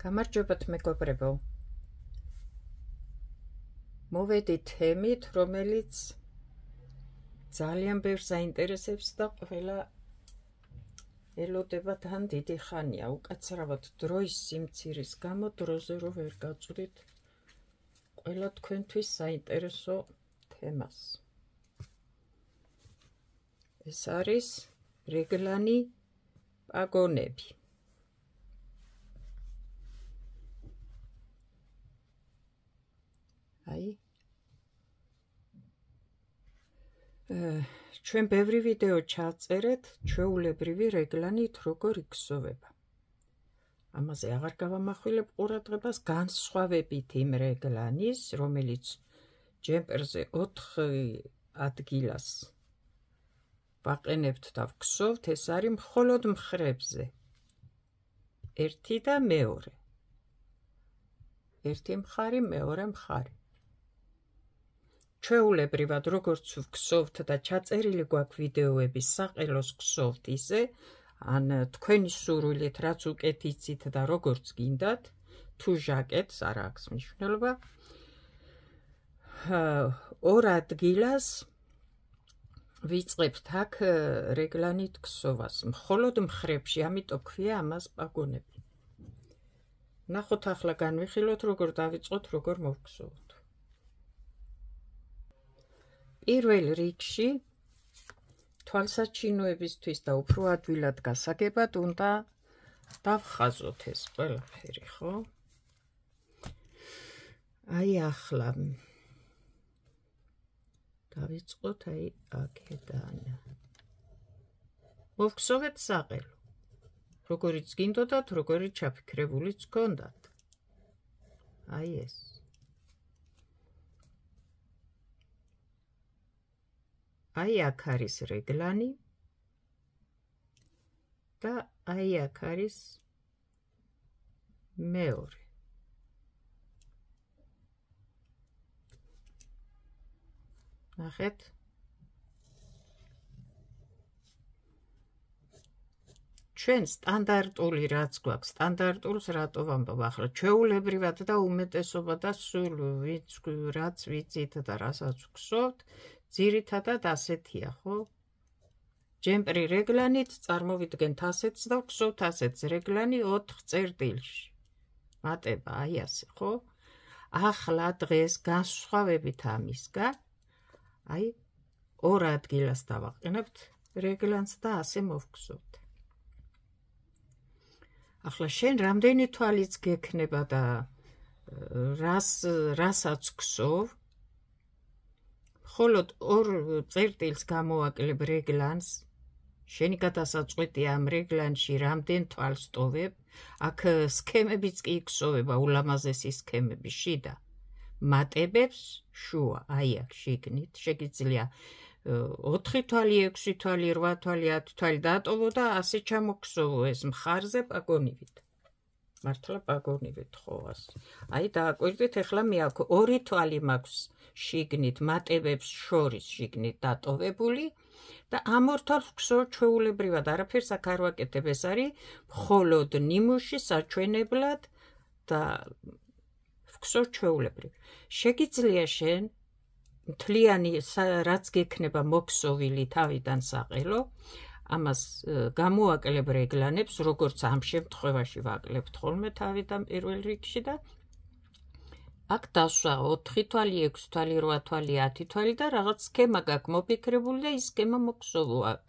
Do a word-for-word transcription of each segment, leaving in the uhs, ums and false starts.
გამარჯობათ მეგობრებო. მოვედით თემით, რომელიც ძალიან ბევრს აინტერესებს და ყველა ელოდება თან დიდი ხანია. უკაცრავად დროის სიმცირის გამო დროზე რო ვერ გავწვდით ყველა თქვენთვის საინტერესო თემას. ეს არის რეგლანი პაგონები. აი ჩვენ ბევრი ვიდეო ჩაწერეთ ჩვეულებრივი რეგლანით როგორ იქსოვება. ამაზე აღარ გავამახვილებ ყურადღებას, განსხვავებით იმ რეგლანის, რომელიც ჯემპერზე ოთხ ადგილას ვაყენებთ და ვქსოვთ, ეს არის მხოლოდ მხრებზე. ერთი და მეორე. ერთი მხარი, მეორე მხარი. ჩვეულებრივად როგორც ვქსოვთ და ჩაწერილი გვაქვს ვიდეოები საყელოს ვქსოვთ ისე, ან თქვენი სურვილით რაც უკეთ იცით და როგორც გინდათ, თუ ჟაკეტს არ აქვს მნიშვნელობა, ორ ადგილას ვიწყებთ აქ რეგლანით ქსოვას, მხოლოდ მხრებში, ამიტომ ქვია ამას პაგონები. ნახოთ ახლა განვიხილოთ, როგორ დავიწყოთ, როგორ მოვგსოვოთ. პირველ რიგში თვალსაჩინოებისთვის და უფრო ადვილად გასაგებად უნდა დავხაზოთ ეს ყველაფერი, ხო? აი ახლა დავიწყოთ აი აქედან. მოვგსოვეთ საყელო. როგორიც გინდოდათ, როგორიც ჩაფიქრებულიც გქონდათ. აი ეს. აი აქ არის რეგლანი და აი აქ არის მეორე. ნახეთ? ჩვენ სტანდარტული რაც გვაქვს, სტანდარტულს რატო ვამბობ ახლა, ჩვეულებრივად და უმეტესობა და სულ ვიც რაც ვიცით და რასაც ვგსოვთ, ძირითადად ასეთია, ხო? ჯემპრი რეგლანით წარმოვიდგენთ ასეთს და ვგსოვთ ასეთს რეგლანი ოთხ წერტილში. მატება აი ასე, ხო? ახლა დღეს განსხვავებით ამისგან, აი ორ ადგილას დავაყენებთ რეგლანს და ასე მოვგსოვთ. ახლა შენ რამდენი თვალიც გექნება და რას რასაც გსოვ, მხოლოდ ორ წერტილს გამოვაკლებ რეგლანს, შენი გადასაწყვეტია ამ რეგლანში რამდენ თვალს ტოვებ, აქ სქემებიც კი იქსოვება, ულამაზესი სქემები შიდა. მატებებს შუა, აი აქ შიგნით, შეგიძლია ოთხი თვალი, ექვსი თვალი, რვა თვალი, ათი თვალი დაატოვო და ასე ჩამოგქსოვო ეს მხარზე პაგონივით. მართლა პაგონივით ხო ასე. აი დააკვირდით, ახლა მე აქ ორი თვალი მაქვს შიგნით, მატებებს შორის შიგნით დატოვებული და ამ ორ თვალს ვგსოვ ჩვეულებრივად, არაფერს აქ არ ვაკეთებ, ეს არის მხოლოდ ნიმუში საჩვენებლად და ვგსოვ ჩვეულებრივ. შეგიძლია შენ მთლიანი რაც გექნება მოგსოვილი თავიდან საყელო, ამას გამოვაკლებ რეგლანებს, როგორც ამ შემთხვევაში ვაკლებთ ხოლმე თავიდან პირველ რიგში და აქ დასვა ოთხი თვალი, ექვსი თვალი, რვა თვალი, ათი თვალი და რაღაც სქემა გაქვს მოფიქრებული და ის სქემა მოგსოვო აქ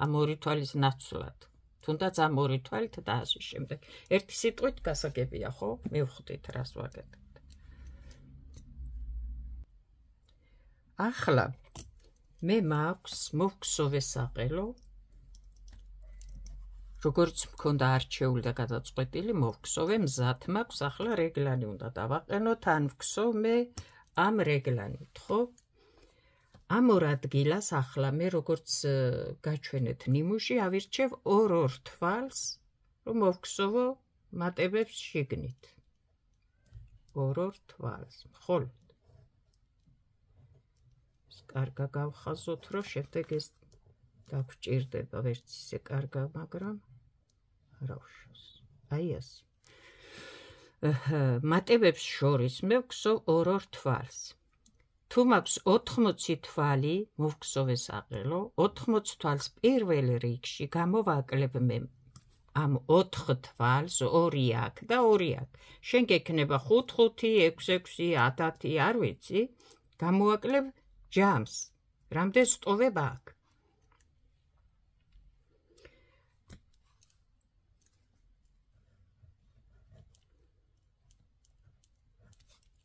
ამ ორი თვალის ნაცვლად. თუნდაც ამ ორი თვალით და ასე შემდეგ. ერთი სიტყვით გასაგებია, ხო? მივხვდით რას ვაკეთებ. ახლა მე მაქვს მოვგსოვე საყელო, როგორც მქონდა არჩეული და გადაწყვეტილი, მოვგსოვე, მზად მაქვს, ახლა რეგლანი უნდა დავაყენოთ, ან ვგსოვ მე ამ რეგლანით, ხო? ამ ორ ადგილას ახლა მე როგორც გაჩვენეთ ნიმუში, ავირჩევ ორ-ორ თვალს, რომ მოვგსოვო მატებებს შიგნით. ორ-ორ თვალს, მხოლოდ. კარგა გავხაზოთ, რომ შემდეგ ეს დაგვჭირდება, ვერც ისე კარგა, მაგრამ არა უშავს. აი ასე. მატებებს შორის მე ვგსოვ ორ-ორ თვალს. თუ მაქვს ოთხმოცი თვალი, მოვგსოვე საყელო, ოთხმოცი თვალს პირველ რიგში გამოვაკლებ მე ამ ოთხ თვალს, ორი აქ და ორი აქ. შენ გექნება ხუთ ხუთი, ექვსი ექვსი, ათი, არ ვიცი, გამოვაკლებ ჯამს. რამდენ სტოვებ აქ?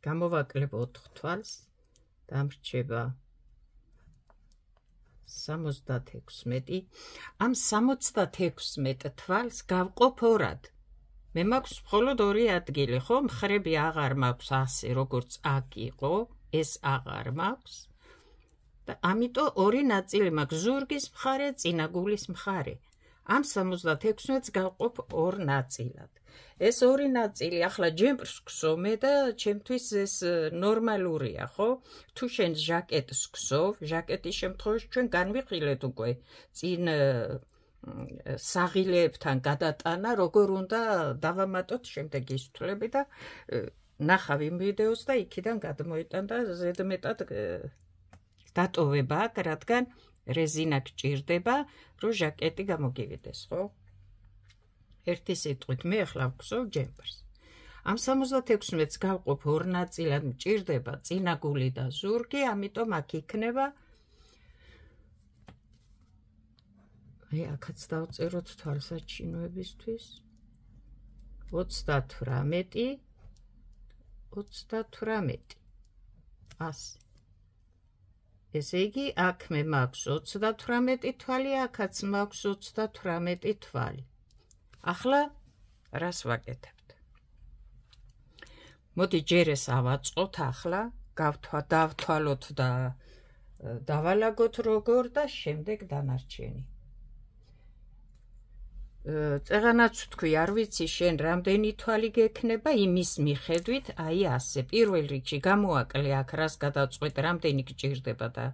გამოვაკლებ ოთხ თვალს, დამრჩება სამოცდათექვსმეტი. ამ სამოცდათექვსმეტ თვალს გავყოფ ორად. მე მაქვს მხოლოდ ორი ადგილი, ხო? მხრები აღარ მაქვს ასე, როგორც აქ იყო, ეს აღარ მაქვს. და ამიტომ ორი ნაწილი მაქვს, ზურგის მხარე, წინაგულის მხარე. ამ სამოცდათექვსმეტს გავყოფ ორ ნაწილად. ეს ორი ნაწილი ახლა ჯემპრს გსოვ მე და ჩემთვის ეს ნორმალურია, ხო? თუ შენ ჟაკეტს გსოვ, ჟაკეტის შემთხვევაში ჩვენ განვიხილეთ უკვე წინ საღილეებთან გადატანა, როგორ უნდა დავამატოთ შემდეგი სიტყვები და ნახავ იმ ვიდეოს და იქიდან გადმოიტან და ზედმეტად დატოვება აქ, რადგან რეზინა გჭირდება, რომ ჟაკეტი გამოგივიდეს, ხო? ერთი სიტყვით მე ახლა ვგსოვ ჯემპერს. ამ სამოცდათექვსმეტს გავყოფ ორ ნაწილად, მჭირდება წინაგული და ზურგი, ამიტომ აქ იქნება აი აქაც დავწეროთ თვალსაჩინოებისთვის ოცდათვრამეტი ოცდათვრამეტი ასი. ესე იგი აქ მე მაქვს ოცდათვრამეტი თვალი, აქაც მაქვს ოცდათვრამეტი თვალი. ახლა რას ვაკეთებთ? მოდი ჯერ ეს ავაწყოთ ახლა, დავთვალოთ და დავალაგოთ როგორ და შემდეგ დანარჩენი. წეღანაც ვთქვი, არ ვიცი შენ რამდენი თვალი გექნება, იმის მიხედვით, აი ასე, პირველ რიგში გამოვაკლე აქ რას გადაწყვეტ, რამდენი გჭირდება და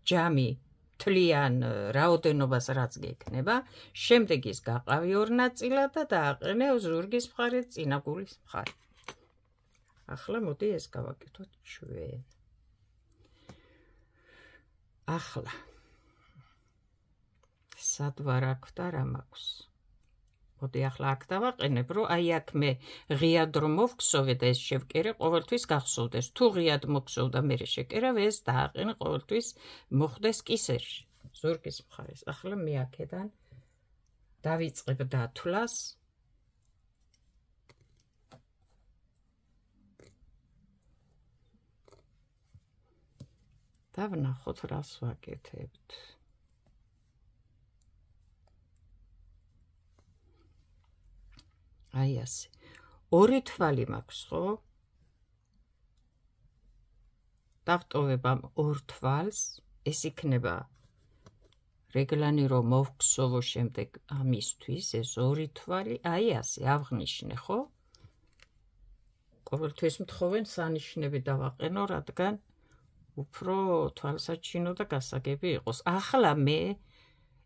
ჯამი თლიან რაოდენობას რაც გექნება, შემდეგ ის გაყავი ორ ნაწილად და დააყენე ზურგის მხარე, წინაგულის მხარე. ახლა მოდი ეს გავაკეთოთ ჩვენ. ახლა სად ვარ აქ და რა მაქვს? მოდი ახლა აქ დავაყენებ, რომ აი აქ მე ღიად რომ მოვგსოვე და ეს შევკერე, ყოველთვის გახსოვდეს. თუ ღიად მოგსოვ და მერე შეკერავ, ეს დააყენე ყოველთვის მოხდეს კისერში, ზურგის მხარეს. ახლა მე აქედან დავიწყებ დათვლას. და ვნახოთ რას ვაკეთებთ. აი ასე. ორი თვალი მაქვს, ხო? დავტოვებ ამ ორ თვალს, ეს იქნება რეგლანი რომ მოვგსოვო შემდეგ ამისთვის, ეს ორი თვალი, აი ასე, ავღნიშნე, ხო? ყოველთვის მთხოვენ სანიშნები დავაყენო, რადგან უფრო თვალსაჩინო და გასაგები იყოს. ახლა მე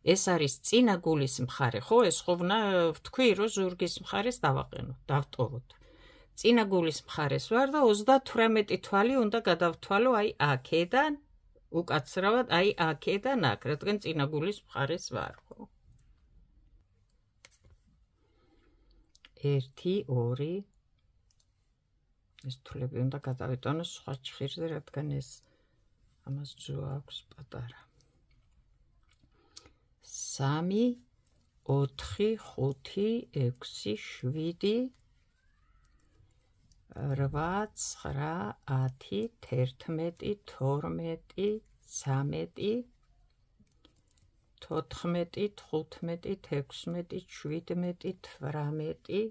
ეს არის წინაგულის მხარე, ხო? ეს ხოვნა ვთქვი, რომ ზურგის მხარეს დავაყენო, დავტოვოთ. წინაგულის მხარეს ვარ და ოცდათვრამეტი თვალი უნდა გადავთვალო აი აქედან, უკაცრავად აი აქედან აქ, რადგან წინაგულის მხარეს ვარ, ხო? ერთი, ორი. ეს თვლები უნდა გადავიტანო სხვა ჩხირზე, რადგან ეს ამას ძუა აქვს პატარა. სამი, ოთხი, ხუთი, ექვსი, შვიდი, რვა, ცხრა, ათი, თერთმეტი, თორმეტი, ცამეტი, თოთხმეტი, თხუთმეტი, თექვსმეტი, შვიდმეტი, თვრამეტი,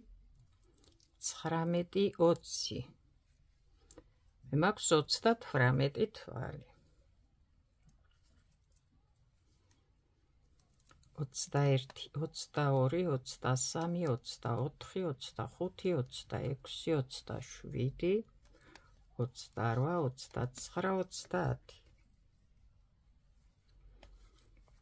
ცხრამეტი, ოცი. მე მაქვს ოცდათვრამეტი თვალი. ოცდაერთი, ოცდაორი, ოცდასამი, ოცდაოთხი, ოცდახუთი, ოცდაექვსი, ოცდაშვიდი, ოცდარვა, ოცდაცხრა, ოცდაათი.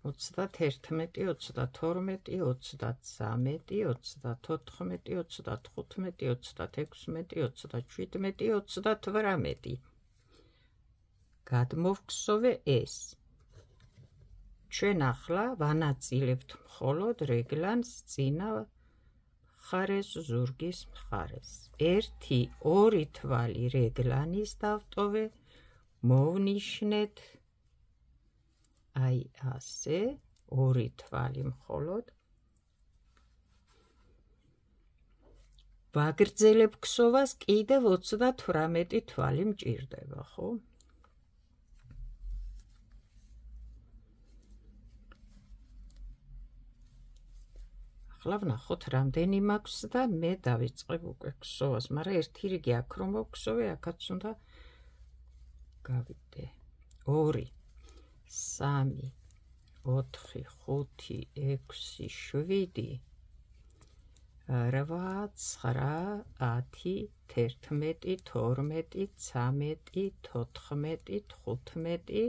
ოცდათერთმეტი, ოცდათორმეტი, ოცდათსამეტი, ოცდათოთხმეტი, ოცდათხუთმეტი, ოცდათექვსმეტი, ოცდაშვიდმეტი, ოცდათვრამეტი. გადმოვგსოვე ეს. ჩვენ ახლა ვანაწილებთ მხოლოდ რეგლანს წინა მხარეს, ზურგის მხარეს. ერთი, ორი თვალი რეგლანის დავტოვე, მოვნიშნეთ აი ასე, ორი თვალი მხოლოდ. ვაგრძელებ ქსოვას, კიდევ ოცდათვრამეტი თვალი მჭირდება, ხო? ახლა ვნახოთ რამდენი მაქვს და მე დავიწყებ უკვე ქსოვას, მაგრამ ერთი რიგი აქ რომ მოვქსოვე, აქაც უნდა გავიდე. ორი, სამი, ოთხი, ხუთი, ექვსი, შვიდი, რვა, ცხრა, ათი, თერთმეტი, თორმეტი, ცამეტი, თოთხმეტი, თხუთმეტი,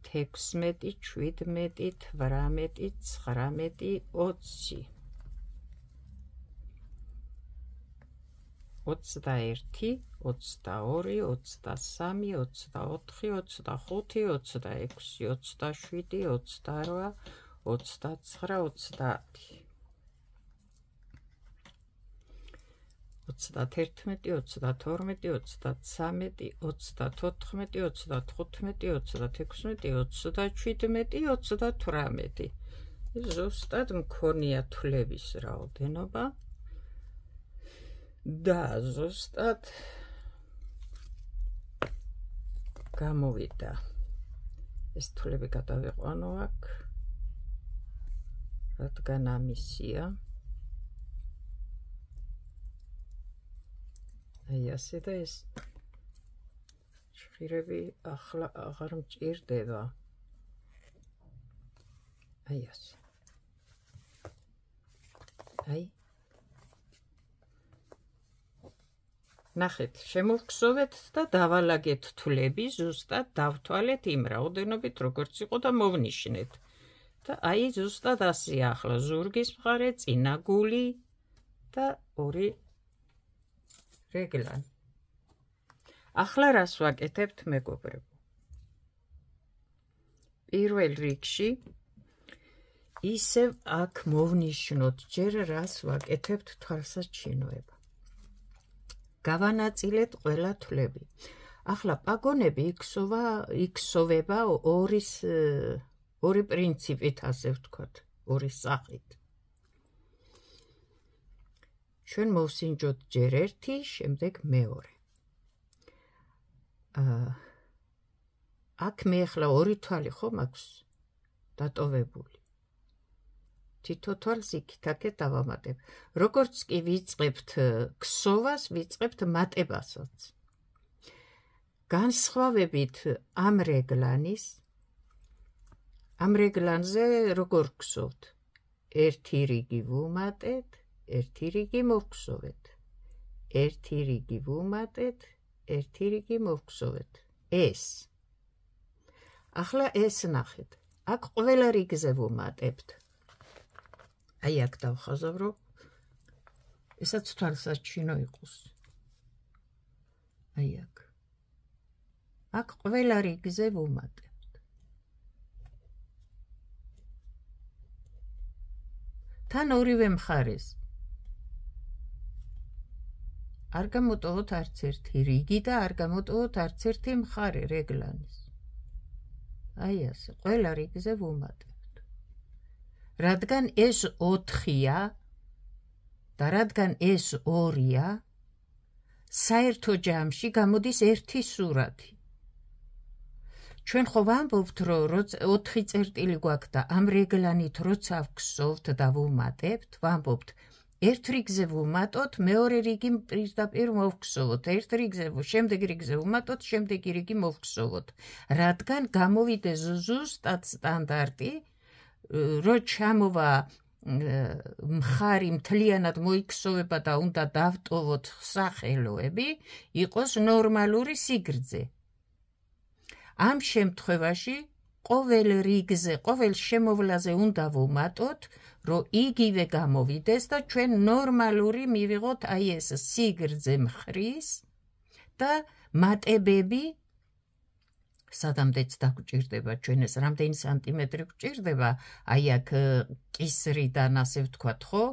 თექვსმეტი, შვიდმეტი, თვრამეტი, ცხრამეტი, ოცი, ოცდაერთი, ოცდაორი, ოცდასამი, ოცდაოთხი, ოცდახუთი, ოცდაექვსი, ოცდაშვიდი, ოცდარვა, ოცდაცხრა, ოცდაათი. ოცდათერთმეტი, ოცდათორმეტი, ოცდათსამეტი, ოცდათოთხმეტი, ოცდათხუთმეტი, ოცდათექვსმეტი, ოცდაშვიდმეტი, ოცდათვრამეტი. ზუსტად მქონია თვლების რაოდენობა და ზუსტად გამოვიდა. ეს თვლები გადავიყვანო აქ, რადგან ამისია. აი ასე და ეს ჭირები ახლა აღარ მჭირდება. აი ასე. აი. ნახეთ, შემოვგსოვეთ და დავალაგეთ თვლები, ზუსტად დავთვალეთ იმ რაოდენობით, როგორც იყო და მოვნიშნეთ. და აი ზუსტად ასეა ახლა ზურგის მხარე, წინა გული და ორი რეგლანი. ახლა რას ვაკეთებთ, მეგობრებო? პირველ რიგში ისევ აქ მოვნიშნოთ ჯერ რას ვაკეთებთ თვალსაჩინოება. გავანაწილეთ ყველა თვლები. ახლა პაგონები იქსოვა, იქსოვება ორის ორი პრინციპით, ასე ვთქვათ, ორი სახით. ჩვენ მოვსინჯოთ ჯერ ერთი, შემდეგ მეორე. აქ მე ახლა ორი თვალი ხო მაქვს დატოვებული. თითო თვალს იქით-აქეთ დავამატებ. როგორც კი ვიწყებთ ქსოვას, ვიწყებთ მატებასაც. განსხვავებით ამ რეგლანის, ამ რეგლანზე როგორ ქსოვთ? ერთი რიგი ვუმატეთ, ერთი რიგი მოვგსოვეთ. ერთი რიგი ვუმატეთ, ერთი რიგი მოვგსოვეთ. ეს. ახლა ეს ნახეთ. აქ ყველა რიგზე ვუმატებთ. აი აქ დავხაზავრო. ესაც თვალსაჩინო იყოს. აი აქ. აქ ყველა რიგზე ვუმატებთ. თან ორივე მხარეს. არ გამოტოვოთ არც ერთი რიგი და არ გამოტოვოთ არც ერთი მხარე რეგლანის. აი ასე, ყველა რიგზე ვუმატებთ. რადგან ეს ოთხია და რადგან ეს ორია, საერთო ჯამში გამოდის ერთი სურათი. ჩვენ ხო ვამბობთ, რომ ოთხი წერტილი გვაქვს და ამ რეგლანით როცა ვგსოვთ და ვუმატებთ, ვამბობთ, ერთ რიგზე ვუმატოთ, მეორე რიგი პირდაპირ მოვგსოვოთ, ერთ რიგზე, შემდეგ რიგზე ვუმატოთ, შემდეგი რიგი მოვგსოვოთ. რადგან გამოვიდეს ზუსტად სტანდარტი, რო ჩამოვა მხარი მთლიანად მოიქსოვება და უნდა დავტოვოთ სახელოები, იყოს ნორმალური სიგრძე. ამ შემთხვევაში ყოველ რიგზე, ყოველ შემოვლაზე უნდა ვუმატოთ, რომ იგივე გამოვიდეს და ჩვენ ნორმალური მივიღოთ აი ეს სიგრძე მხრის და მატებები სადამდეც დაგვჭირდება ჩვენ ეს რამდენი სანტიმეტრი გვჭირდება, აი აქ კისრიდან ასე ვთქვათ, ხო,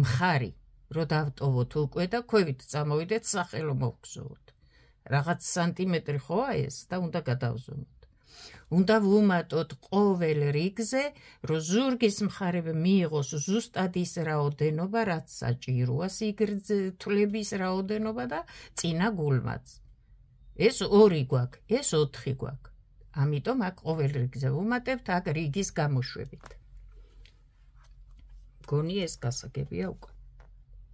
მხარი, რომ დავტოვოთ უკვე და ქვევით წამოვიდეთ სახელო მოვგზავნოთ. Რაღაც სანტიმეტრი ხოა ეს და უნდა გადავზომოთ. უნდა ვუმატოთ ყოველ რიგზე, რომ ზურგის მხარები მიიღოს ზუსტად ის რაოდენობა, რაც საჭიროა სიგრძეების რაოდენობა და წინა გულმაც. ეს ორი გვაქვს, ეს ოთხი გვაქვს. ამიტომ აქ ყოველ რიგზე ვუმატებთ აქ რიგის გამოშვებით. მგონი ეს გასაგებია უკვე.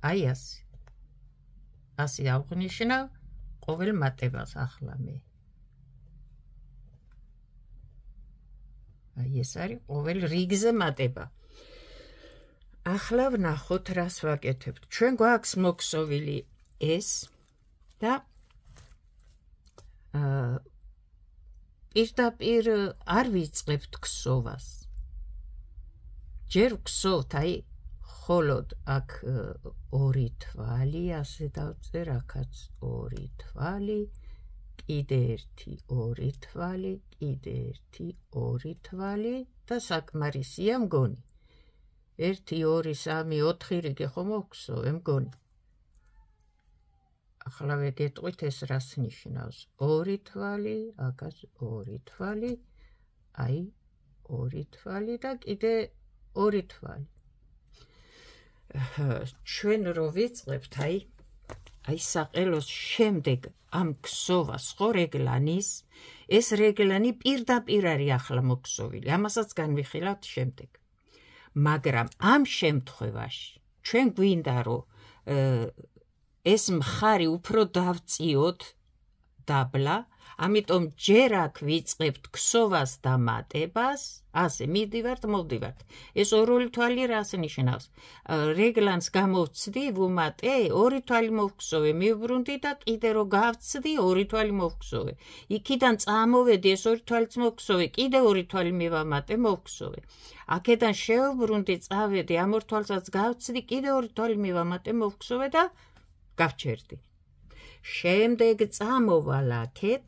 აი ასე. ასე ავღნიშნავ ყოველ მატებას ახლა მე. აი ეს არის ყოველ რიგზე მატება. ახლა ვნახოთ რას ვაკეთებთ. ჩვენ გვაქვს მოქსოვილი ეს და აა პირდაპირ არ ვიწყებთ ქსოვას. ჯერ ვქსოვთ, აი холод აქ ორი თვალი ასე დავწერ, აქაც ორი თვალი, კიდე ერთი ორი თვალი, კიდე ერთი ორი თვალი და საკმარისია მგონი. ერთი, ორი, სამი, ოთხი რიგი ხომ მოვხსოვე მგონი. ახლა ვეგეტყვით ეს რას ნიშნავს. ორი თვალი, აქაც ორი თვალი, აი ორი თვალი და კიდე ორი თვალი. ჩვენ რო ვიწყებთ, აი აი საყელოს შემდეგ ამ ქსოვას ხო რეგლანის, ეს რეგლანი პირდაპირ არის ახლა მოქსოვილი, ამასაც განვიხილავთ შემდეგ. მაგრამ ამ შემთხვევაში ჩვენ გვინდა რომ ეს მხარი უფრო დავწიოთ დაბლა, ამიტომ ჯერ აქ ვიწყებთ ქსოვას და მატებას, ასე მიდივართ, მოვდივართ. ეს ორ-ორი თვალი რას ნიშნავს? რეგლანს გამოვცდი, ვუმატე, ორი თვალი მოვხსოვე, მივბრუნდი და კიდე რო გავცდი, ორი თვალი მოვხსოვე. იქიდან წამოვედი, ეს ორი თვალიც მოვხსოვე, კიდე ორი თვალი მივამატე, მოვხსოვე. აქედან შევბრუნდი, წავედი, ამ ორ თვალსაც გავცდი, კიდე ორი თვალი მივამატე, მოვხსოვე და გავჩერდი. შემდეგ წამოვალ აქეთ,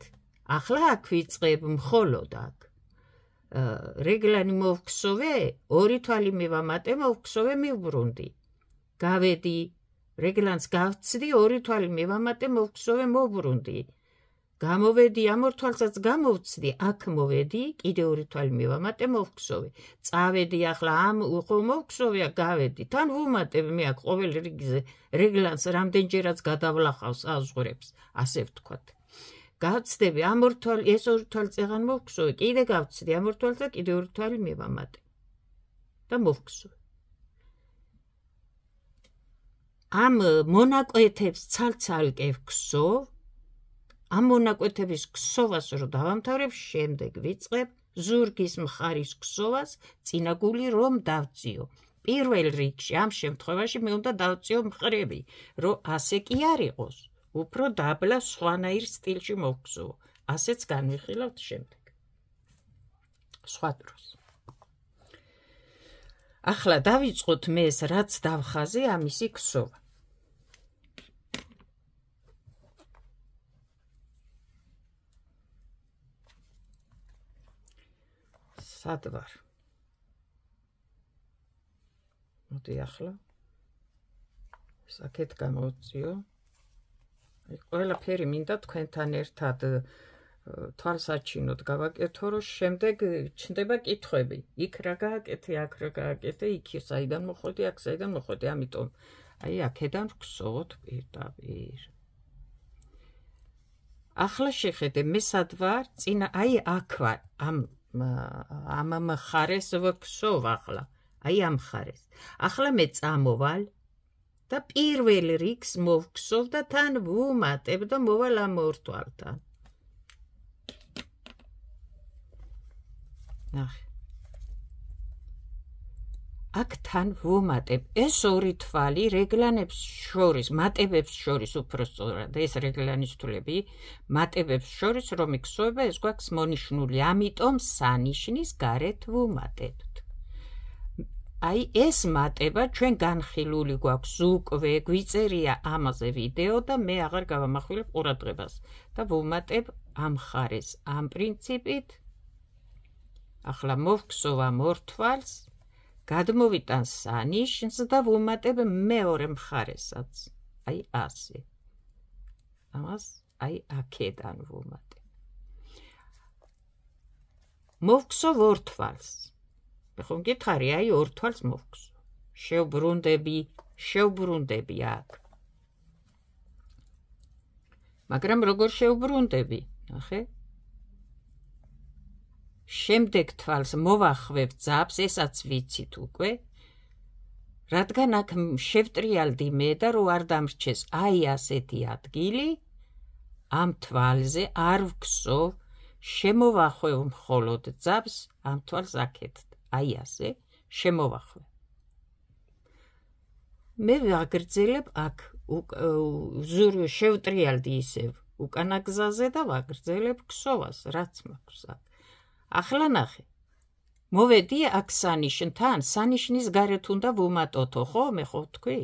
ახლა აქ ვიწყებ მხოლოდ აქ. რეგლანი მოვხსოვე, ორი თვალი მივამატე, მოვხსოვე, მივბრუნდი. გავედი, რეგლანს გავცდი, ორი თვალი მივამატე, მოვხსოვე, მოვბრუნდი. გამოვედი, ამ ორ თვალსაც გამოვცდი, აქ მოვედი, კიდე ორი თვალი მივამატე, მოვხსოვე. წავედი, ახლა ამ ხო მოვხსოვე, გავედი. თან ვუმატებ მე აქ ყოველ რიგზე რეგლანს რამდენჯერაც გადავლახავს აზღვრებს, ასე ვთქვათ. გავცდები, ამ ორ თვალი, ეს ორი თვალი წეღან მოვხსოვე, კიდე გავცდი, ამ ორ თვალს და კიდე ორი თვალი მივამატე. და მოვხსოვე. ამ მონაკვეთებს ცალ-ცალკე ვქსოვ, ამ მონაკვეთების ქსოვას რო დავამთავრებ, შემდეგ ვიწყებ ზურგის მხარის ქსოვას, წინა გული რომ დავწიო. პირველ რიგში, ამ შემთხვევაში მე უნდა დავწიო მხრები, რომ ასე კი არ იყოს. უფრო დაბლა სხვანაირ სტილში მოვხსოვო. ასეც განვიხილავთ შემდეგ. სხვა დროს. ახლა დავიწყოთ მე ეს რაც დავხაზე, ამისი ქსოვა. სად ვარ? მოდი ახლა საკეთ გამოვწიო. ყველაფერი მინდა თქვენთან ერთად თვალსაჩინოდ გავაკეთო, რომ შემდეგ ჩნდება კითხვები. იქ რა გააკეთე, აქ რა გააკეთე, იქ საიდან მოხვედი, აქ საიდან მოხვედი, ამიტომ აი აქედან ვქსოვოთ პირდაპირ. ახლა შეხედე, მე სად ვარ? წინა აი აქ ვარ, ამ ამ მხარეს ვქსოვ ახლა. აი ამ მხარეს. ახლა მე წამოვალ და პირველ რიგს მოვხსოვ და თან ვუმატებ და მოვალ ამ ორ თვალთან. ნახე. აქ თან ვუმატებ ეს ორი თვალი რეგლანებს შორის, მატებებს შორის უпростоრად, ეს რეგლანის თვლები მატებებს შორის რომ იქსოვება, ეს გვაქვს მონიშნული, ამიტომ სანიშნის გარეთ ვუმატებთ. აი ეს მატება ჩვენ განხილული გვაქვს უკვე, გვიწერია ამაზე ვიდეო და მე აღარ გავამახვილებ ყურადღებას და ვუმატებ ამ მხარეს, ამ პრინციპით. ახლა მოვგსოვ ამ ორ თვალს, გადმოვიტან სანიშნს და ვუმატებ მეორე მხარესაც, აი ასე. ამას აი აქედან ვუმატებ. მოვგსოვ ორ თვალს. ხო მგითხარი, აი ორ თვალს მოვგსოვ. შევბრუნდები, შევბრუნდები აქ. მაგრამ როგორ შევბრუნდები, ნახე? შემდეგ თვალს მოვახვევ ძაბს, ესაც ვიცით უკვე, რადგან აქ შევტრიალდი მე და რო არ დამრჩეს აი ასეთი ადგილი, ამ თვალზე არ ვგსოვ, შემოვახვევ მხოლოდ ძაბს, ამ თვალს აქეთ, აი ასე, შემოვახვევ. მე ვაგრძელებ აქ, შევტრიალდი ისევ უკანა გზაზე და ვაგრძელებ ქსოვას, რაც მაქვს აქ. ახლა ნახე, მოვედი აქ სანიშნთან, სანიშნის გარეთ უნდა ვუმატოთო, ხო, მე ხო თქვი?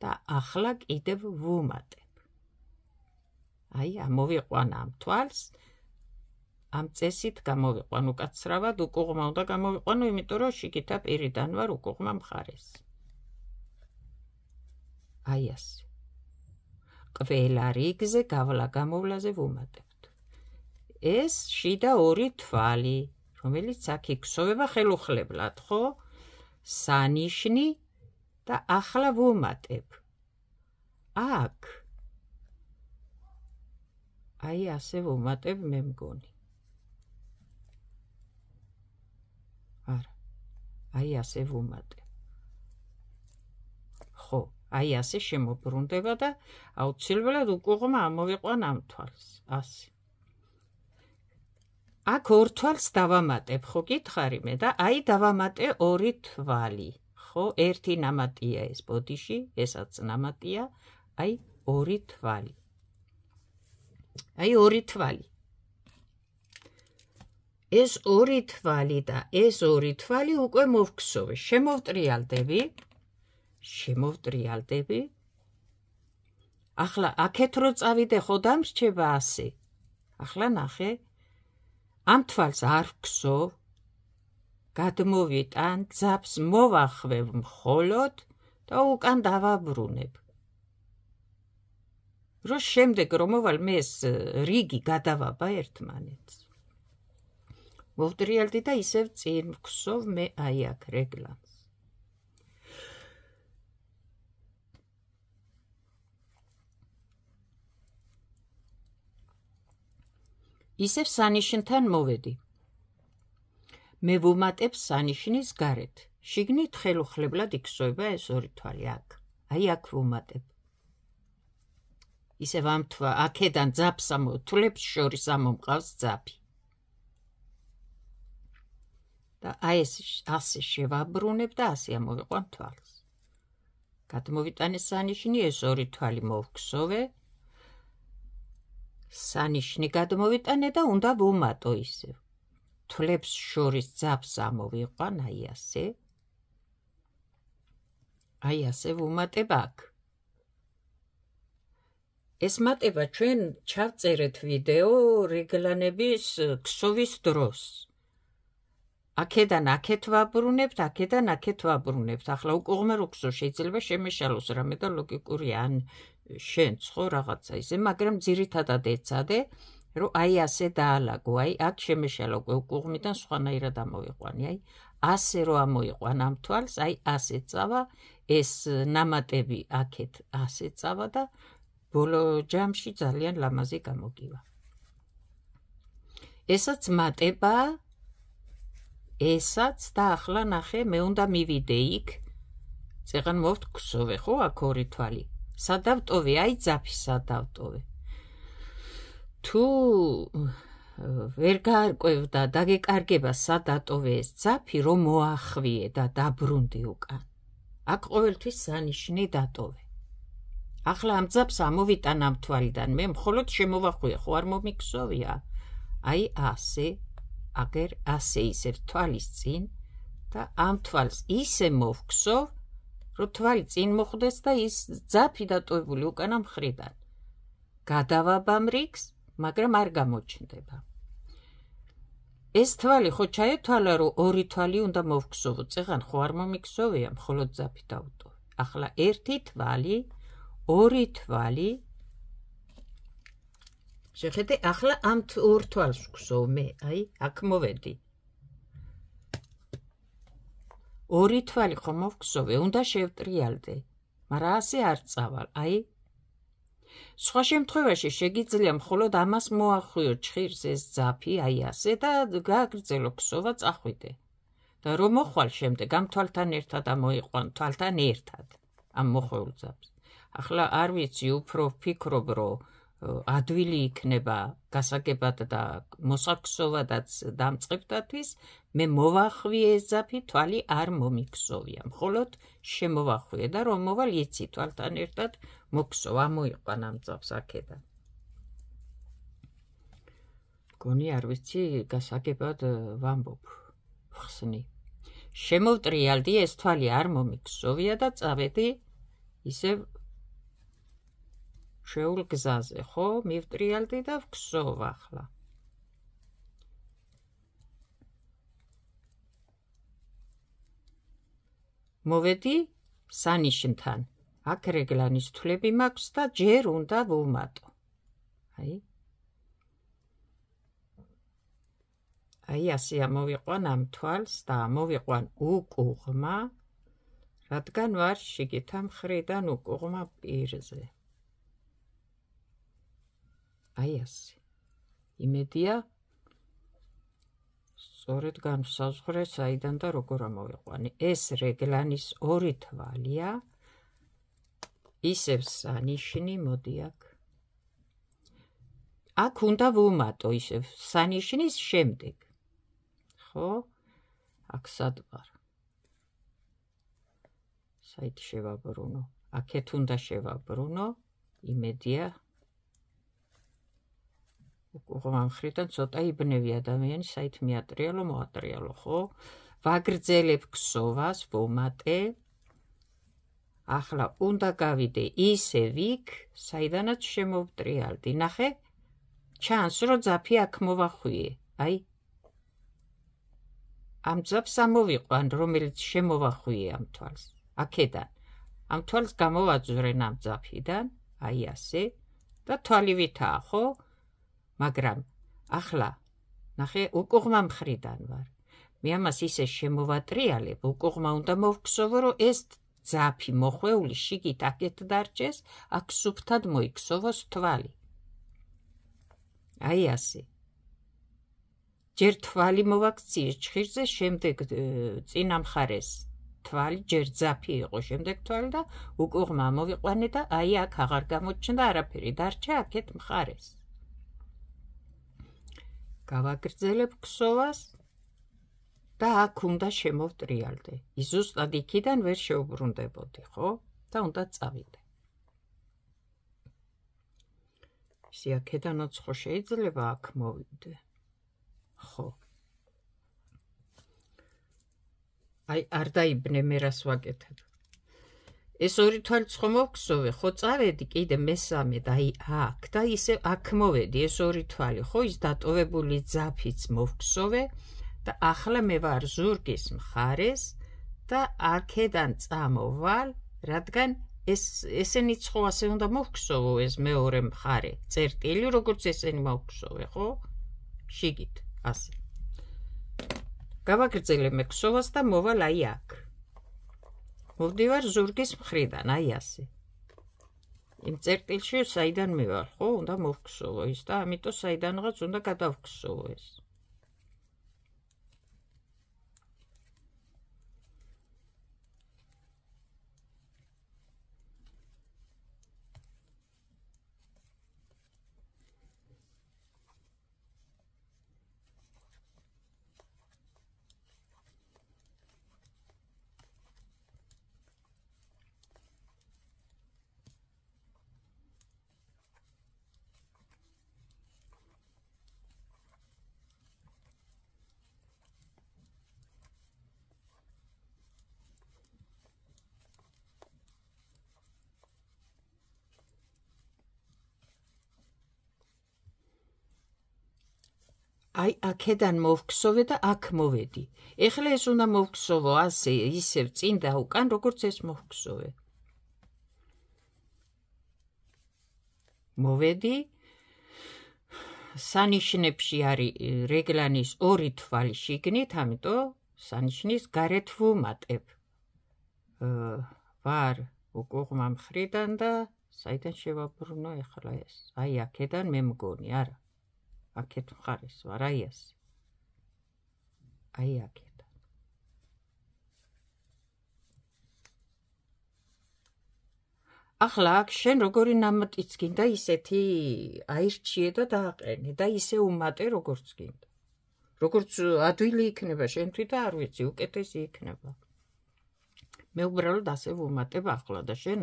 და ახლა კიდევ ვუმატებ. აი, ამოვიყვან ამ თვალს, ამ წესით გამოვიყვან უკაცრავად, უკუღმა უნდა გამოვიყვანო, იმიტომ რომ შიგითა პირიდან ვარ უკუღმა მხარეს. აი ასე. ყველა რიგზე გავლა-გამოვლაზე ვუმატებთ. ეს შიდა ორი თვალი, რომელიც აქ იქსოვება ხელუხლებლად, ხო? სანიშნი და ახლა ვუმატებ. აქ. აი ასე ვუმატებ მე მგონი. არა. აი ასე ვუმატებ. ხო, აი ასე შემოbrunდება და აუცილებლად უკუღმა ამოვიყვან ამ თვალს. ასე. აქ ორ თვალს დავამატებ, ხო გითხარი მე და აი დავამატე ორი თვალი, ხო, ერთი ნამატია ეს ბოდიში, ესაც ნამატია, აი ორი თვალი. აი ორი თვალი. ეს ორი თვალი და ეს ორი თვალი უკვე მოვგსოვე, შემოვტრიალდები, შემოვტრიალდები. ახლა აქეთ რო წავიდე, ხო დამრჩება ასე. ახლა ნახე. ამ თვალს არ ვგსოვ, გადმოვიტან, ძაბს მოვახვევ მხოლოდ და უკან დავაბრუნებ. რო შემდეგ რომ მოვალ მე ეს რიგი გადავაბა ერთმანეთს. მოვტრიალდი და ისევ წინ ვგსოვ მე აი აქ რეგლანს. ისევ სანიშნთან მოვედი. მე ვუმატებ სანიშნის გარეთ. შიგნით ხელუხლებლად იქსოვება ეს ორი თვალი აქ. აი აქ ვუმატებ. ისევ ამ თვა აქედან ძაბს ამოთვლებს შორის ამომყავს ძაფი. და აი ეს ასე შევაბრუნებ და ასე ამოვიყვან თვალს. გადმოვიტანე სანიშნი, ეს ორი თვალი მოვგსოვე. სანიშნი გადმოვიტანე და უნდა ვუმატო ისევ. თვლებს შორის ძაბს ამოვიყვან, აი ასე. აი ასე ვუმატებ აქ. ეს მატება ჩვენ ჩავწერეთ ვიდეო რეგლანების ქსოვის დროს. აქედან აქეთ ვაბრუნებთ, აქედან აქეთ ვაბრუნებთ. ახლა უკუღმა რო გსო შეიძლება შემეშალოს რამე და ლოგიკურია ან შენც ხო რაღაცა ისე, მაგრამ ძირითადად ეცადე, რომ აი ასე დაალაგო, აი აქ შემეშალო უკუღმიდან სხვანაირად ამოვიყვანი, აი ასე რო ამოიყვან ამ თვალს, აი ასე წავა, ეს ნამატები აქეთ ასე წავა და ბოლო ჯამში ძალიან ლამაზი გამოგივა. ესაც მატება, ესაც და ახლა ნახე, მე უნდა მივიდე იქ, წეღან მოვთქვსოვე, ხო, აქ ორი თვალი. სადავტოვე, აი ძაფი სადავტოვე. თუ ვერ გაარკვევდა დაგეკარგება სად დატოვე ეს ძაფი რომ მოახვიე და დაბრუნდი უკან. აქ ყოველთვის სანიშნე დატოვე. ახლა ამ ძაფს ამოვიტან ამ თვალიდან მე მხოლოდ შემოვახვიე ხო არ მომიქსოვია. აი ასე აგერ ასე ისევ თვალის წინ და ამ თვალს ისე მოვქსოვ რომ თვალი წინ მოხვდეს და ის ძაფი დატოვებული უკანა მხრიდან. გადავაბამ რიგს, მაგრამ არ გამოჩნდება. ეს თვალი ხო ჩაეთვალა რომ ორი თვალი უნდა მოვქსოვო, წეღან ხო არ მომიქსოვია, მხოლოდ ძაფი დავტოვე. ახლა ერთი თვალი, ორი თვალი. შეხედე, ახლა ამ ორ თვალს ვქსოვ მე, აი, აქ მოვედი. ორი თვალი ხო მოვქსოვე, უნდა შევტრიალდე, მაგრამ ასე არ წავალ, აი. სხვა შემთხვევაში შეგიძლია მხოლოდ ამას მოახვიო ჩხირს ეს ძაფი, აი ასე და გააგრძელო ქსოვა წახვიდე. და რომ მოხვალ შემდეგ ამ თვალთან ერთად ამოიყვან თვალთან ერთად ამ მოხეულ ძაფს. ახლა არ ვიცი, უფრო ვფიქრობ, რომ ადვილი იქნება გასაგებად და მოსაქსოვადაც დამწყებთათვის, მე მოვახვიე ეს ძაფი, თვალი არ მომიქსოვია, მხოლოდ შემოვახვიე და რომ მოვალ იცი თვალთან ერთად მოქსოვ, ამოიყვან ამ ძაფს აქედან. მგონი არ ვიცი, გასაგებად ვამბობ, ვხსნი. შემოვტრიალდი, ეს თვალი არ მომიქსოვია და წავედი ისევ შეულ გზაზე, ხო? მივტრიალდი და ვქსოვ ახლა. მოვედი სანიშნთან. აქ რეგლანის თვლები მაქვს და ჯერ უნდა ვუმატო. აი. აი ასე ამოვიყვან ამ თვალს და ამოვიყვან უკუღმა, რადგან ვარ შიგითა მხრიდან უკუღმა პირზე. აი ასე. იმედია სწორედ განსაზღვრე საიდან და როგორ ამოვიყვანი. ეს რეგლანის ორი თვალია. ისევ სანიშნი მოდი აქ. აქ უნდა ვუმატო ისევ სანიშნის შემდეგ. ხო? აქ სად ვარ? საით შევაბრუნო. აქეთ უნდა შევაბრუნო. იმედია უკუღმა მხრიდან ცოტა იბნევი ადამიანი, საით მიატრიალო, მოატრიალო, ხო? ვაგრძელებ ქსოვას, ვუმატე. ახლა უნდა გავიდე ისევ იქ, საიდანაც შემოვტრიალდი. ნახე, ჩანს, რომ ძაფი აქ მოვახვიე. აი, ამ ძაფს ამოვიყვან, რომელიც შემოვახვიე ამ თვალს. აქედან. ამ თვალს გამოვაძვრენ ამ ძაფიდან, აი ასე, და თვალი ვითაა, ხო? მაგრამ ახლა, ნახე, უკუღმა მხრიდან ვარ. მე ამას ისე შემოვატრიალებ, უკუღმა უნდა მოვქსოვო, რომ ეს ძაფი მოხვეული შიგით აქეთ დარჩეს, აქ სუფთად მოიქსოვოს თვალი. აი ასე. ჯერ თვალი მოვაქციე ჩხირზე, შემდეგ წინა მხარეს თვალი, ჯერ ძაფი იყო, შემდეგ თვალი და უკუღმა ამოვიყვანე და აი აქ აღარ გამოჩნდა არაფერი, დარჩა აქეთ მხარეს. გავაგრძელებ ქსოვას და აქ უნდა შემოვტრიალდე. ის ზუსტად იქიდან ვერ შეუბრუნდებოდი, ხო? და უნდა წავიდე. ისე აქედანაც ხო შეიძლება აქ მოვიდე. ხო. აი, არ დაიბნე მე რას ვაკეთებ. ეს ორი თვალიც ხო მოვქსოვე, ხო წავედი კიდე მესამე და აი აქ და ისე აქ მოვედი, ეს ორი თვალი, ხო ის დატოვებული ძაფიც მოვქსოვე და ახლა მე ვარ ზურგის მხარეს და აქედან წამოვალ, რადგან ეს ესენიც ხო ასე უნდა მოვქსოვო ეს მეორე მხარე, წერტილი, როგორც ესენი მოვქსოვე, ხო? შიგით, ასე. გავაგრძელე მე ქსოვას და მოვალ აი აქ. მოვდივარ ზურგის მხრიდან, აი ასე. იმ წერტილში საიდან მე ვარ, ხო? უნდა მოვქსოვო ის და ამიტომ საიდანღაც უნდა გადავქსოვო ეს. აი აქედან მოვგსოვე და აქ მოვედი. ეხლა ეს უნდა მოვგსოვო ასე ისევ წინ და უკან, როგორც ეს მოვგსოვე. მოვედი. სანიშნებში არის რეგლანის ორი თვალი შიგნით, ამიტომ სანიშნის გარეთ ვუმატებ. ვარ უკუღმა მხრიდან და საიდან შევაბრუნო ეხლა ეს? აი აქედან მე მგონი, არა. აქეთ მხარეს ვარ, აი ასე. აი აქედან. ახლა აქ შენ როგორი ნამატიც გინდა ისეთი აირჩიე და დააყენე და ისე უმატე როგორც გინდა. როგორც ადვილი იქნება შენთვის და არ ვიცი, უკეთესი იქნება. მე უბრალოდ ასე ვუმატებ ახლა და შენ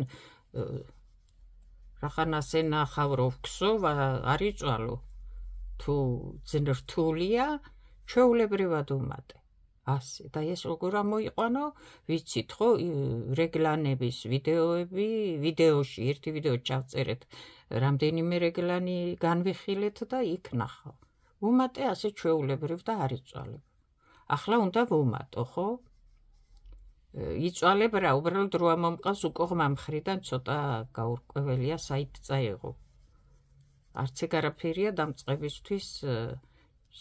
რახან ასე ნახავ რომ ვგსოვ, არ იწვალო. თუ ძნრთულია, ჩვეულებრივად უმატე. ასე და ეს როგორ ამოიყვანო, ვიცით ხო, რეგლანების ვიდეოები, ვიდეოში, ერთი ვიდეო ჩავწერეთ, რამდენიმე რეგლანი განვიხილეთ და იქ ნახავ. ვუმატე ასე ჩვეულებრივ და არ იწვალებ. ახლა უნდა ვუმატო, ხო? იწვალებ რა, უბრალოდ რო ამომყავს უკუღმა მხრიდან ცოტა გაურკვეველია საით წაიღო. არც ეგ არაფერია დამწყებისთვის,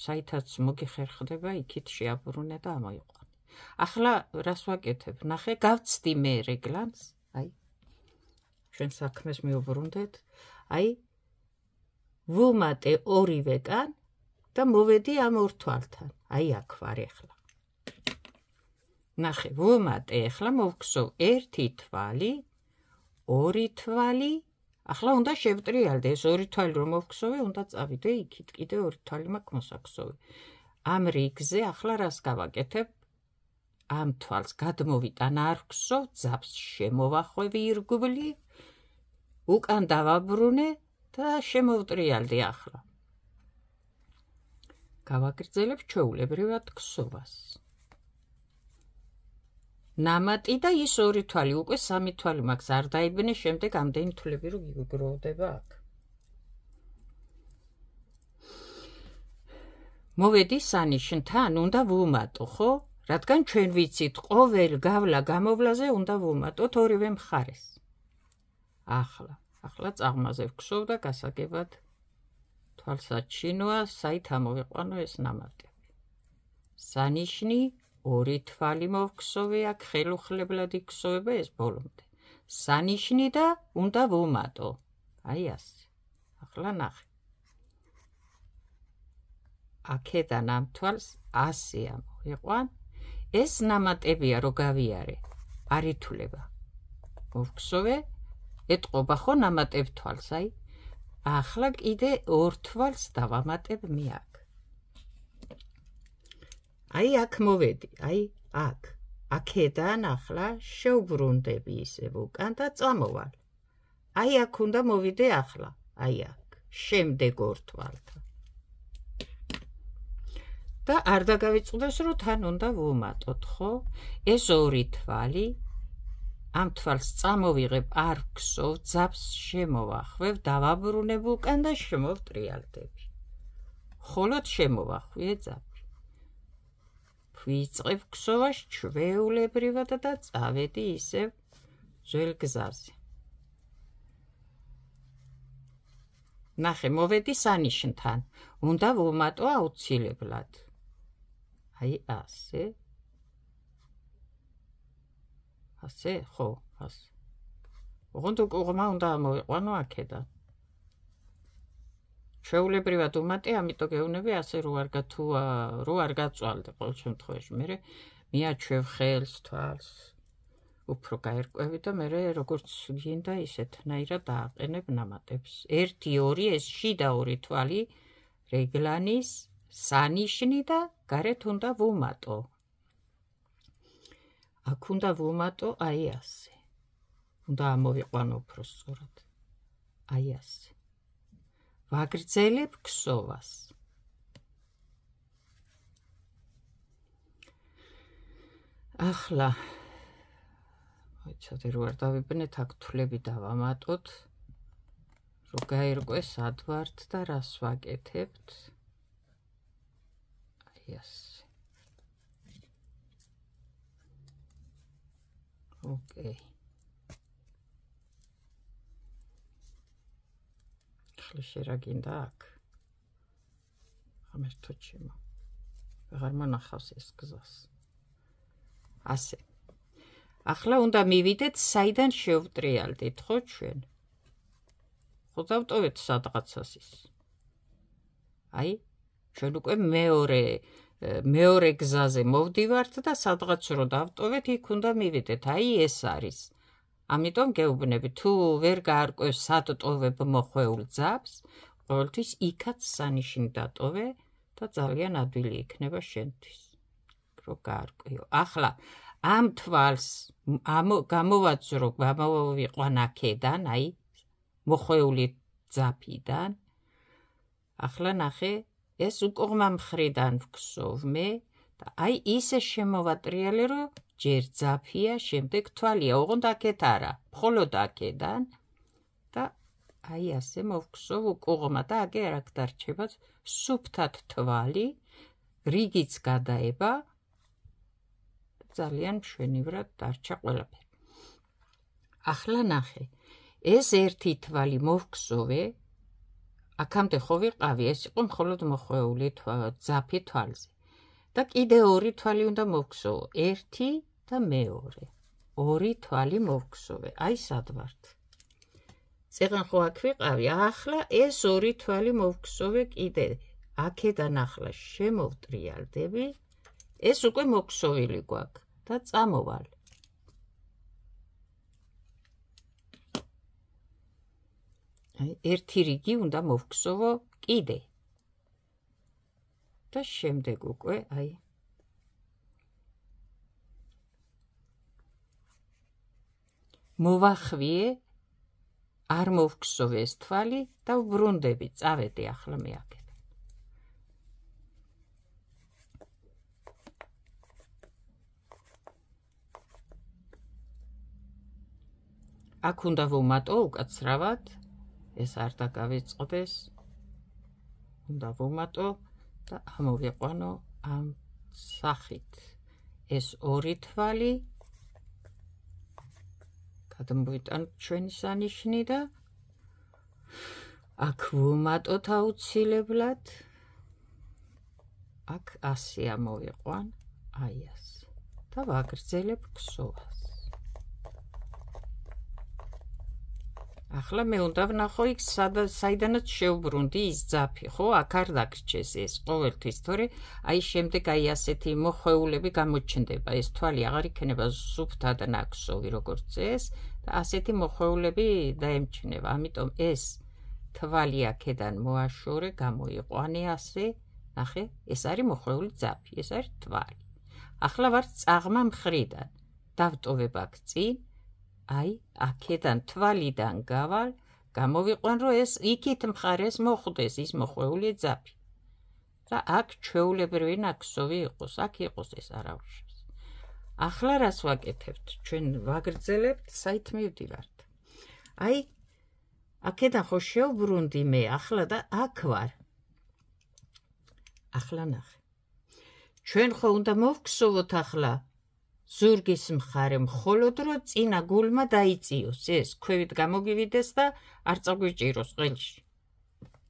საითაც მოგიხერხდება, იქით შეაბრუნე და ამოიყვანე. ახლა რას ვაკეთებ? ნახე, გავცდი მე რეგლანს, აი. ჩვენ საქმეს მივუბრუნდეთ. აი, ვუმატე ორივეკან და მოვედი ამ ორ თვალთან. აი აქ ვარ ეხლა. ნახე, ვუმატე ეხლა მოვგსოვ ერთი თვალი, ორი თვალი, ახლა უნდა შევტრიალდე, ეს ორი თვალი რომ მოვგსოვე, უნდა წავიდე იქით, კიდე ორი თვალი მაქვს მოსაგსოვე. ამ რიგზე ახლა რას გავაკეთებ? ამ თვალს გადმოვიტან არ ვგსოვ, ძაბს შემოვახვევი ირგვლივ, უკან დავაბრუნე და შემოვტრიალდი ახლა. გავაგრძელებ ჩვეულებრივად გსოვას. ნამატი და ის ორი თვალი, უკვე სამი თვალი მაქვს, არ დაიბნე შემდეგ ამდენი თვლები რომ გიგროვდება აქ. მოვედი სანიშნთან, უნდა ვუმატო, ხო? რადგან ჩვენ ვიცით, ყოველ გავლა გამოვლაზე უნდა ვუმატოთ ორივე მხარეს. ახლა, ახლა წაღმაზე ვგსოვ და გასაგებად თვალსაჩინოა, საით ამოვიყვანო ეს ნამატები. სანიშნი ორი თვალი მოვგსოვე, აქ ხელუხლებლად იქსოვება ეს ბოლომდე. სანიშნი და უნდა ვუმატო. აი ასე. ახლა ნახე. აქედან ამ თვალს ასე ამოვიყვან. ეს ნამატებია რო გავიარე. არ ითვლება. მოვგსოვე, ეტყობა ხო ნამატებ თვალს, აი. ახლა კიდე ორ თვალს დავამატებ მე აქ. აი აქ მოვედი, აი აქ. აქედან ახლა შევბრუნდები ისევ უკან და წამოვალ. აი აქ უნდა მოვიდე ახლა, აი აქ. შემდეგ ორ თვალთან. და არ დაგავიწყდეს რომ თან უნდა ვუმატოთ, ხო? ეს ორი თვალი, ამ თვალს წამოვიღებ, არ ვგსოვ, ძაბს შემოვახვევ, დავაბრუნებ უკან და შემოვტრიალდები. ხოლოდ შემოვახვიე ძაბი. ვიწყებ გსოვას ჩვეულებრივად და წავედი ისევ ძველ გზაზე. ნახე, მოვედი სანიშნთან, უნდა ვუმატო აუცილებლად. აი ასე. ასე, ხო, ასე. ოღონდ უკუღმა უნდა ამოვიყვანო აქედან. ჩვეულებრივად უმატე, ამიტომ გეუბნები ასე რო არ თუ რო არ გაწვალდე ყოველ შემთხვევაში. მე მიაჩვევ ხელს, თვალს, უფრო გაერკვევი და მე როგორც გინდა ისეთნაირად დააყენებ ნამატებს. ერთი, ორი, ეს შიდა ორი თვალი, რეგლანის, სანიშნი და გარეთ უნდა ვუმატო. აქ უნდა ვუმატო აი ასე. უნდა ამოვიყვანო უფრო სწორად. აი ასე. ვაგრძელებ გსოვას. ახლა მოიცადე რო არ დავიბნეთ, აქ თვლები დავამატოთ, რო გაერკვეს ადვართ და რას ვაკეთებთ. აი ასე. ოკეი. ხლიშე რა გინდა აქ? ღამერთო ჩემო. ვეღარ მონახავს ეს გზას. ასე. ახლა უნდა მივიდეთ საიდან შევტრიალდით, ხო ჩვენ? ხო დავტოვეთ სადღაცას ის. აი, ჩვენ უკვე მეორე მეორე გზაზე მოვდივართ და სადღაც რო დავტოვეთ, იქ უნდა მივიდეთ. აი ეს არის. ამიტომ გეუბნები, თუ ვერ გაარკვევს სად ტოვებ მოხვეულ ძაბს, ყოველთვის იქაც სანიშნი დატოვე და ძალიან ადვილი იქნება შენთვის. რო გაარკვიო. ახლა ამ თვალს გამოვაძრო, გამოვიყვან აქედან, აი მოხვეული ძაფიდან. ახლა ნახე, ეს უკუღმა მხრიდან ვგსოვ მე და აი ისე შემოვატრიალე, რომ ჯერ ძაფია, შემდეგ თვალია, ოღონდ აქეთ არა, მხოლოდ აქედან და აი ასე მოვგსოვ უკუღმა და აგე არ აქ დარჩება სუფთად თვალი, რიგიც გადაება ძალიან მშვენივრად დარჩა ყველაფერი. ახლა ნახე, ეს ერთი თვალი მოვგსოვე, აქამდე ხო ვიყავი, ეს იყო მხოლოდ მოხვეული ძაფი თვალზე. და კიდე ორი თვალი უნდა მოვგსოვო, ერთი და მეორე. ორი თვალი მოვგსოვე, აი სად ვართ. წეგან ხო აქ ვიყავი, ახლა ეს ორი თვალი მოვგსოვე კიდე. აქედან ახლა შემოვტრიალდები, ეს უკვე მოგსოვილი გვაქვს და წამოვალ. ერთი რიგი უნდა მოვგსოვო კიდე. და შემდეგ უკვე აი მოვახვიე, არ მოვგსოვე ეს თვალი და ვბრუნდები, წავედი ახლა მე აქედან. აქ უნდა ვუმატო უკაცრავად, ეს არ დაგავიწყდეს, უნდა ვუმატო და ამოვიყვანო ამ სახით. ეს ორი თვალი გადმოვიტანოთ ჩვენი სანიშნი და აქ ვუმატოთ აუცილებლად. აქ ასე ამოვიყვან, აი ასე. და ვაგრძელებ ქსოვას. ახლა მე უნდა ვნახო იქ საიდანაც შევბრუნდი ის ძაფი, ხო? აქ არ დაგრჩეს ეს ყოველთვის, თორე აი შემდეგ აი ასეთი მოხვეულები გამოჩნდება, ეს თვალი აღარ იქნება სუფთად ნაქსოვი როგორც ეს და ასეთი მოხვეულები დაემჩნევა. ამიტომ ეს თვალი აქედან მოაშორე, გამოიყვანე ასე, ნახე, ეს არის მოხვეული ძაფი, ეს არის თვალი. ახლა ვარ წაღმა მხრიდან, დავტოვებ აქ წინ. აი, აქედან თვალიდან გავალ, გამოვიყვან, რომ ეს იქით მხარეს მოხვდეს ის მოხვეული ძაფი. და აქ ჩვეულებრივი ნაქსოვი იყოს, აქ იყოს ეს არავშავს. ახლა რას ვაკეთებთ? ჩვენ ვაგრძელებთ, საით მივდივართ. აი, აქედან ხო შევბრუნდი მე, ახლა და აქ ვარ. ახლა ნახე. ჩვენ ხო უნდა მოვგსოვოთ ახლა ზურგის მხარე, მხოლოდ რომ წინა გულმა დაიწიოს ეს, ქვევით გამოგივიდეს და არ წაგვიჭიროს ყელში.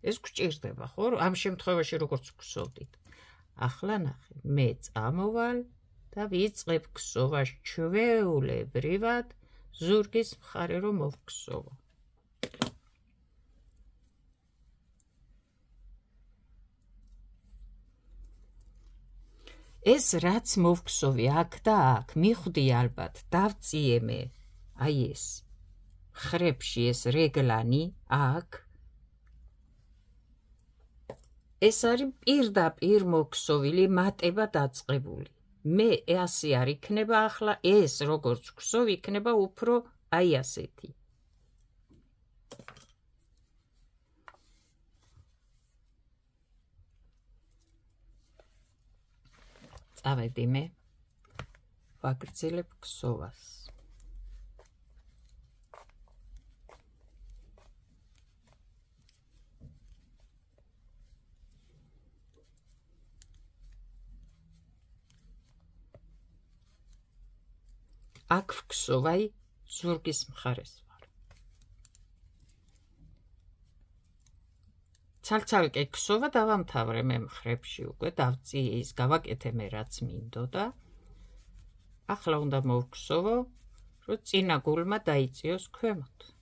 ეს გვჭირდება, ხო? ამ შემთხვევაში როგორც გვგსოვდით. ახლა ნახე, მე წამოვალ და ვიწყებ ქსოვას ჩვეულებრივად ზურგის მხარე რომ მოვგსოვო. ეს რაც მოვგსოვი აქ და აქ, მიხვდი ალბათ, დავწიე მე, აი ეს, ხრებში ეს რეგლანი, აქ, ეს არის პირდაპირ მოგსოვილი მატება დაწყებული. მე ასე არ იქნება ახლა, ეს როგორც გვგსოვ, იქნება უფრო აი ასეთი. წავედი მე, ვაგრძელებ ქსოვას. აქ ვგსოვ, აი ზურგის მხარეს ვარ. ცალ-ცალკე გსოვა დავამთავრე მე მხრებში უკვე დავწიე ის გავაკეთე მე რაც მინდოდა. ახლა უნდა მოვგსოვო, რომ წინა გულმა დაიწიოს ქვემოთ.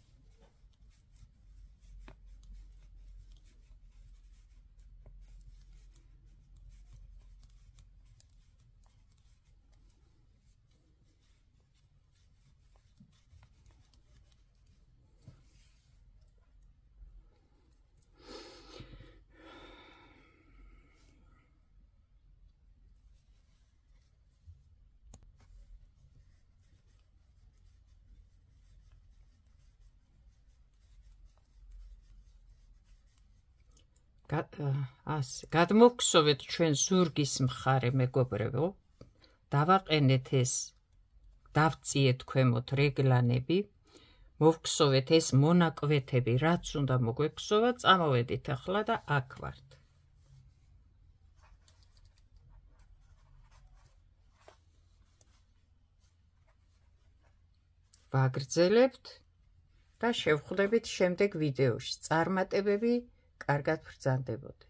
ასე გადმოგხსოვეთ ჩვენ ზურგის მხარე მეგობრებო, დავაყენეთ ეს, დავწიეთ ქვემოთ რეგლანები, მოვხსოვეთ ეს მონაკვეთები, რაც უნდა მოგვექსოვა, წამოვედით ახლა და აქ ვართ. ვაგრძელებთ და შევხვდებით შემდეგ ვიდეოში. წარმატებები, კარგად ბრძანდებოდეთ.